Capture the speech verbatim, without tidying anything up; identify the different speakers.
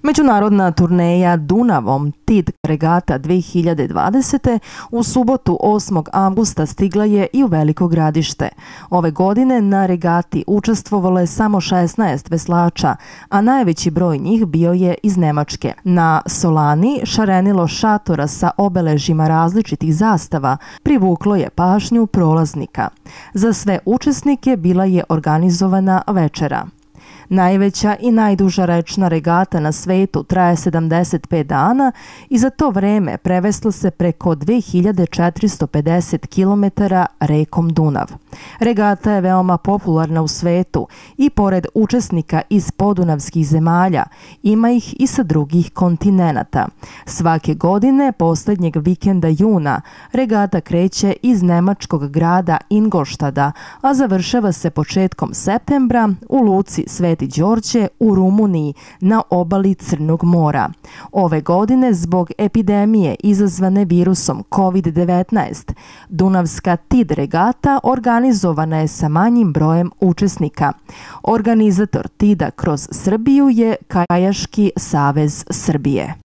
Speaker 1: Međunarodna turneja Dunavom T I D regata dve hiljade dvadesete. u subotu osmog avgusta stigla je i u Veliko Gradište. Ove godine na regati učestvovalo je samo šesnaest veslača, a najveći broj njih bio je iz Nemačke. Na Solani šarenilo šatora sa obeležjima različitih zastava privuklo je pažnju prolaznika. Za sve učesnike bila je organizovana večera. Najveća i najduža rečna regata na svetu traje sedamdeset pet dana i za to vreme preveslo se preko dve hiljade četiristo pedeset kilometara rekom Dunav. Regata je veoma popularna u svetu i pored učesnika iz podunavskih zemalja ima ih i sa drugih kontinenata. Svake godine, posljednjeg vikenda juna, regata kreće iz nemačkog grada Ingolštada, a završava se početkom septembra u luci Sveti Đorđe u Rumuniji na obali Crnog mora. Ove godine, zbog epidemije izazvane virusom kovid devetnaest, Dunavska T I D regata organizovana je sa manjim brojem učesnika. Organizator T I D-a kroz Srbiju je Kajaški savez Srbije.